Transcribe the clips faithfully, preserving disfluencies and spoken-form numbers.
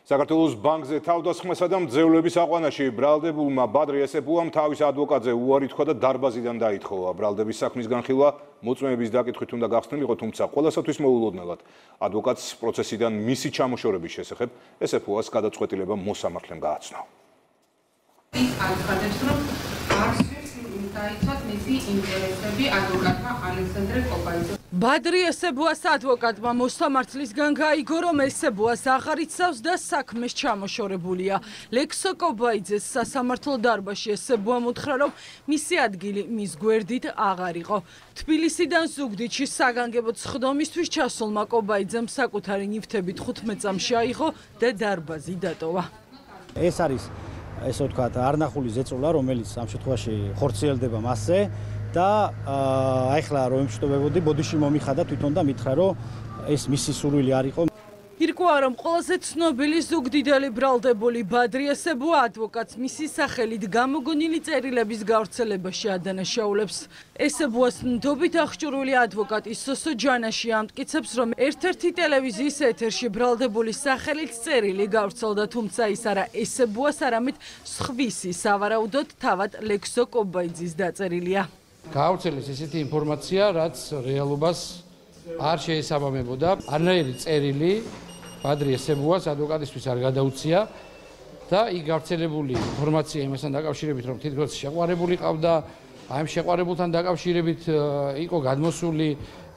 საქართველოს ბანკზე თავდასხმასა და მძევლების აყვანაში ბრალდებულმა ბადრი ესეფუამ თავის ადვოკატზე უარი თქვა და დარბაზიდან დაითხოვა. ბრალდების საქმის განხილვა მოწმეების დაკითხვით უნდა გახსნილიყო, თუმცა ყველასათვის მოულოდნელად ადვოკატს პროცესიდან მისი ჩამოშორების შესახებ ესეფუას გადაწყვეტილება მოსამართლემ გააცნო. ბადრი ესეფუას ადვოკატმა მოსამართლისგან გაიგო, რომ ესეფუას აღარ იცავს და საქმეს ჩამოშორებულია. ლექსო კობაიძეს სასამართლო დარბაზში ესეფუამ უთხრა, რომ მისი ადგილი მის გვერდით აღარ იყო. თბილისიდან ზუგდიდში საგანგებო სხდომისთვის ჩასულმა კობაიძემ საკუთარი ნივთებით თხუთმეტ წამში აიღო და დარბაზი დატოვა. ეს არის ესე ვთქვათ, არნახული ზეწოლა, რომელიც ამ შემთხვევაში ხორციელდება მასზე და აი ხლა რომ ემშტობებოდი, ბოდიში მომიხადა თვითონ და მითხრა, რომ ეს მისი სურვილი არ იყო. ირკვევა, რომ ყველაზე ცნობილი ზუგდიდელი ბრალდებული ბადრი ესეფუა ადვოკატს მისი სახელით გამოგონილი წერილების გავრცელებაში ადანაშაულებს. ესეფუას ნდობით აღჭურვილი ადვოკატი სოსო ჯანაში ამტკიცებს, რომ ერთ-ერთი ტელევიზიის ეთერში ბრალდებულის სახელით წერილი გავრცელდა, თუმცა ის არა ესეფუას, არამედ სხვისი, სავარაუდოდ თავად ლექსო კობაიძის დაწერილია. გავრცელეს ესეთი ინფორმაცია, რაც რეალობას არ შეესაბამებოდა. არანაირი წერილი ბადრი ესეფუას ადვოკატისთვის არ გადაუცია და იქ გავრცელებული ინფორმაცია იმასთან დაკავშირებით, რომ თითქოს შეყვარებული ყავდა, აი ამ შეყვარებულთან დაკავშირებით იყო გადმოსული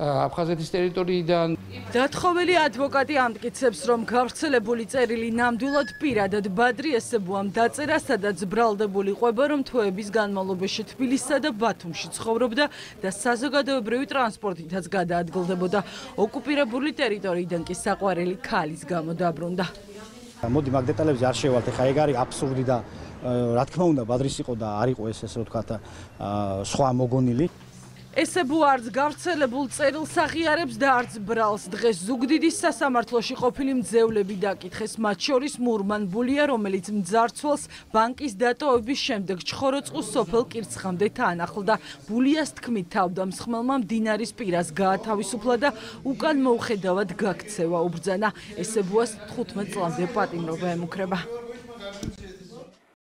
აფხაზეთის ტერიტორიიდან. დათხოვილი ადვოკატი ამტკიცებს, რომ გავრცელებული წერილი ნამდვილად პირადად ბადრი ესეფუამ დაწერა, სადაც ბრალდებული ყვება, რომ თვეების განმავლობაში თბილისსა და ბათუმში ცხოვრობდა და საზოგადოებრივი ტრანსპორტითაც გადაადგილდებოდა. ოკუპირებული ტერიტორიიდან კი საყვარელი ქალის გამო დაბრუნდა. მოდი მაგ დეტალებზე არ შევალთ, ეხა ეგ არის აბსურდი და რა თქმა უნდა ბადრის იყო და არ იყო ეს ესე ვთქვათ სხვა მოგონილი. ესეფუა არც გავრცელებულ წერილს აღიარებს და არც ბრალს. დღეს ზუგდიდის სასამართლოში ყოფილი მძევლები დაკითხეს, მათ შორის მურმან ბულია, რომელიც მძარცველს ბანკის დატოვების შემდეგ ჩხოროწყუს სოფელ კირცხამდე თანახლდა. ბულიას თქმით, თავდამსხმელმა მდინარის პირას გაათავისუფლა და უკან მოუხედავად გაქცევა უბრძანა. ესეფუას თხუთმეტ წლამდე პატიმრობა ემუქრება.